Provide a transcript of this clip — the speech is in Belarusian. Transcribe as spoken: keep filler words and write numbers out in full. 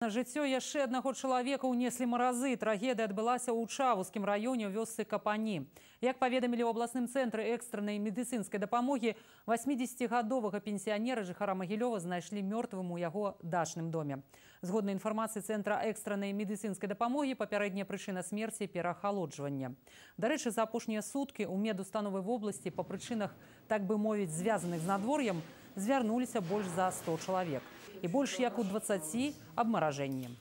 На жыццё яшчэ аднаго чалавека ўнеслі маразы. Трагедыя адбылася ў Чавускім раёне ў вёсцы Капані. Як паведамілі ў абласным цэнтры экстраннай медыцынскай дапамогі, васьмідзесяцігадовага пенсіянера жыхара Магілёва знайшлі мёртвым у яго дачным доме. Згодна інфармацыі цэнтра экстраннай медыцынскай дапамогі, папярэдняя прычына смерці – перахалоджвання. Дарэчы, за апошнія суткі ў медустановы вобласці па прычынах, так бы мовіць, звязаных з надвор'ем, звярнуліся больш за сто чалавек. І больш як у дваццаці абмаражэнні.